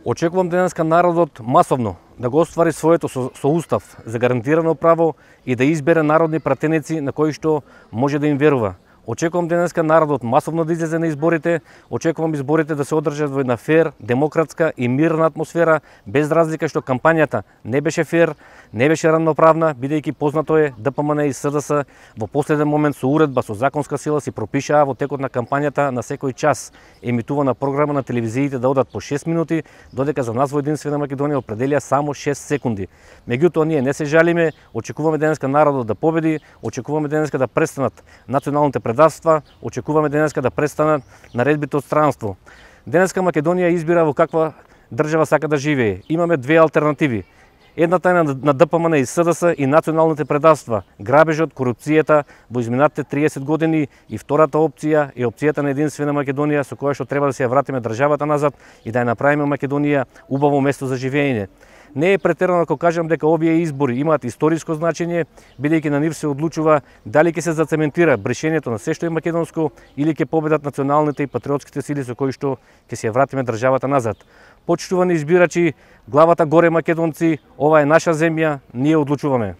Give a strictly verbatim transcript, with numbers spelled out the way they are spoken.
Очекувам денеска народот масовно да го оствари своето со, со устав за гарантирано право и да избере народни пратеници на кои што може да им верува. Очекувам денеска народот масовно да излезе на изборите, очекувам изборите да се одржат во една фер, демократска и мирна атмосфера, без разлика што кампањата не беше фер, не беше равноправна, бидејќи познато е ДПМН и СДС во последен момент со уредба со законска сила си пропишаа во текот на кампањата на секој час емитувана програма на телевизиите да одат по шест минути, додека за нас во Единствена Македонија определија само шест секунди. Меѓутоа ние не се жалиме, очекуваме денеска народот да победи, очекуваме денеска да престанат националните предавства, очекуваме денеска да престанат наредбите од странство. Денеска Македонија избира во каква држава сака да живее. Имаме две алтернативи. Едната е на ДПМН и СДС и националните предавства, грабежот, корупцијата во изминатите триесет години, и втората опција е опцијата на Единствена Македонија со која што треба да се ја вратиме државата назад и да ја направиме Македонија убаво место за живење. Не е претерано ако кажам дека овие избори имаат историско значење, бидејќи на нив се одлучува дали ќе се зацементира брешењето на се што е македонско или ќе победат националните и патриотските сили со кои што ќе се ја вратиме државата назад. Почитувани избирачи, главата горе македонци, ова е наша земја, ние одлучуваме.